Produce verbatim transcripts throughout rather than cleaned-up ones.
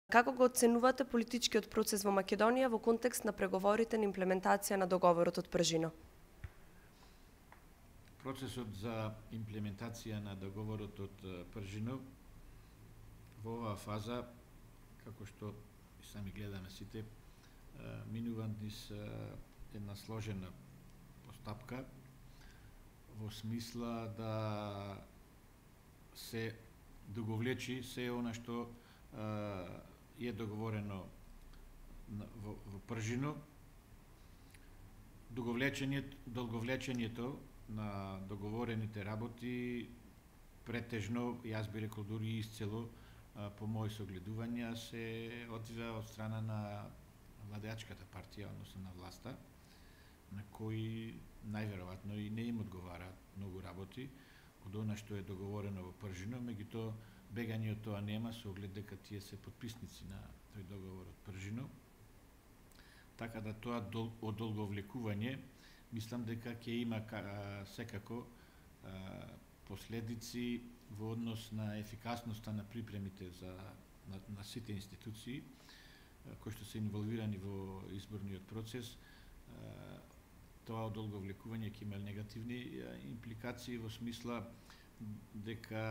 Како го оценувате политичкиот процес во Македонија во контекст на преговорите на имплементација на договорот од Пржино? Процесот за имплементација на договорот од Пржино во оваа фаза, како што и сами гледаме сите, минува низ една сложена постапка во смисла да се договлечи се она што е договорено во, во Пржино. Договлечењето, долговлечењето на договорените работи претежно, јас би рекол дури исцело, по мои согледувања, се одвива од страна на владеачката партија, односно на власта, на кои најверојатно и не им одговараат многу работи од она што е договорено во Пржино, меѓутоа бегање од тоа нема со оглед дека тие се потписници на тој договор од Пржино. Така да тоа одолговлекување, мислам дека ќе има секако последици во однос на ефикасноста на припремите за на, на сите институции кои што се инволвирани во изборниот процес. Тоа одолговлекување ќе има негативни импликации во смисла дека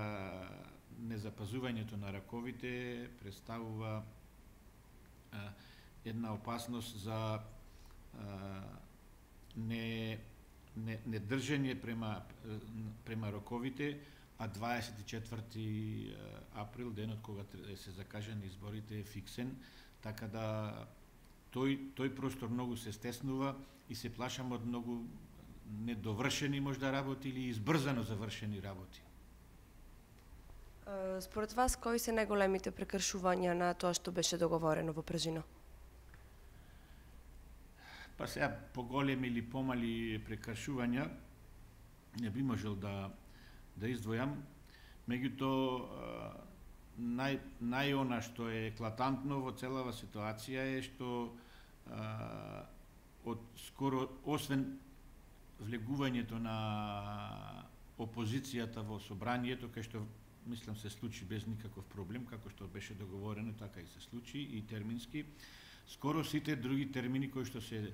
незапазувањето на раковите представува а, една опасност за а, не, не, не држење према, према роковите, а дваесет и четврти април, денот кога се закажани изборите, е фиксен, така да тој, тој простор многу се стеснува и се плашам од многу недовршени можда работи или избрзано завршени работи. Според вас, кои се најголемите прекршувања на тоа што беше договорено во Пржино? Па сега, поголеми или помали прекршувања не би можел да да издвојам, меѓутоа нај најона што е еклатантно во целава ситуација е што а, од скоро освен влегувањето на опозицијата во собранието, кај што мислам се случи без никаков проблем, како што беше договорено, така и се случи, и термински. Скоро сите други термини кои што се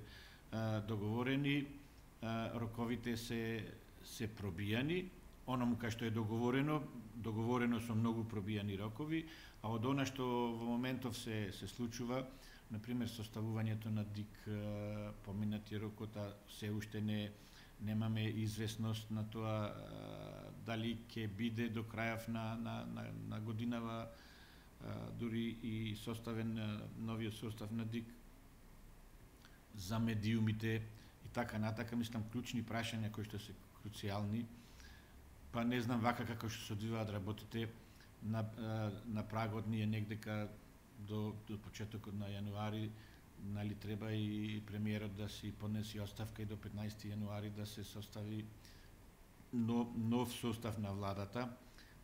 а, договорени, а, роковите се се пробијани. Оному кај што е договорено, договорено со многу пробијани рокови, а од она што во моментов се се случува, например составувањето на ДИК, поминати рокот, а се уште не немаме известност на тоа дали ќе биде до крајав на, на, на, на годинава дури и составен новиот состав на ДИК за медиумите и така натака, мислам клучни прашања кои што се круцијални. Па не знам вака како што се одвиваат работите на, на прагот ние негдека до, до почетокот на јануари, нали треба и премиерот да си поднеси оставка и до петнаесети јануари да се состави нов, нов состав на владата.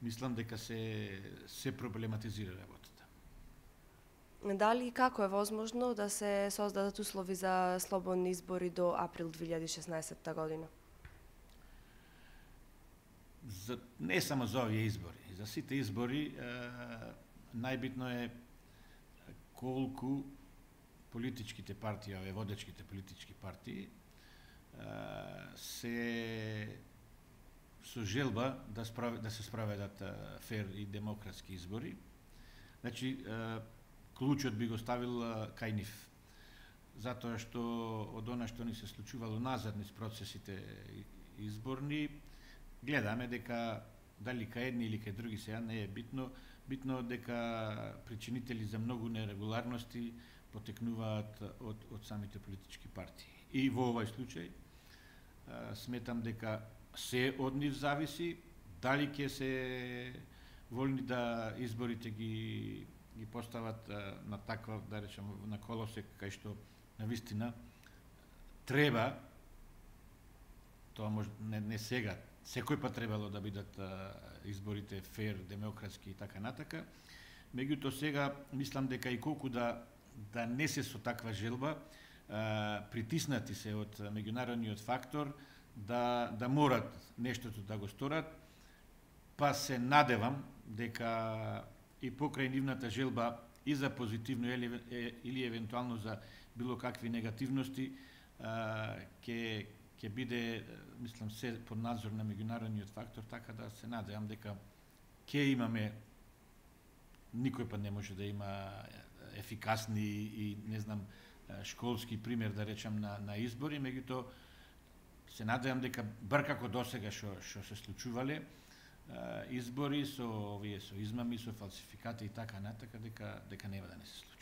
Мислам дека се се проблематизира работата. Дали и како е возможно да се создадат услови за слободни избори до април две илјади и шеснаесетта година? За, не само за овие избори, за сите избори е, најбитно е колку политичките партии, овие водечките политички партии, се со желба да, справ, да се справедат фер и демократски избори. Значи, клучот би го ставил кај нив. Затоа што од она што ни се случувало назад низ процесите изборни, гледаме дека дали кај едни или кај други сега не е битно, битно дека причинители за многу нерегуларности потекнуваат од, од самите политички партии. И во овој случај сметам дека се од нив зависи, дали ќе се волни да изборите ги ги постават на таква, да речем, на колосек кај што навистина треба, тоа може не, не сега, секој пат требало да бидат а, изборите фер, демократски и така натака. Меѓутоа сега мислам дека и колку да да не се со таква желба, а, притиснати се од меѓународниот фактор да да морат нештото да го сторат, па се надевам дека и покрај нивната желба и за позитивно или, или евентуално за било какви негативности, ќе ќе биде, мислам, се под надзор на меѓународниот фактор, така да се надевам дека ќе имаме, никој пат не може да има ефикасни и, не знам, школски пример, да речам, на, на избори, меѓутоа се надевам дека бар како досега што што се случувале избори со овие со измами, со фалсификати и така натака, дека дека нема да не се случи.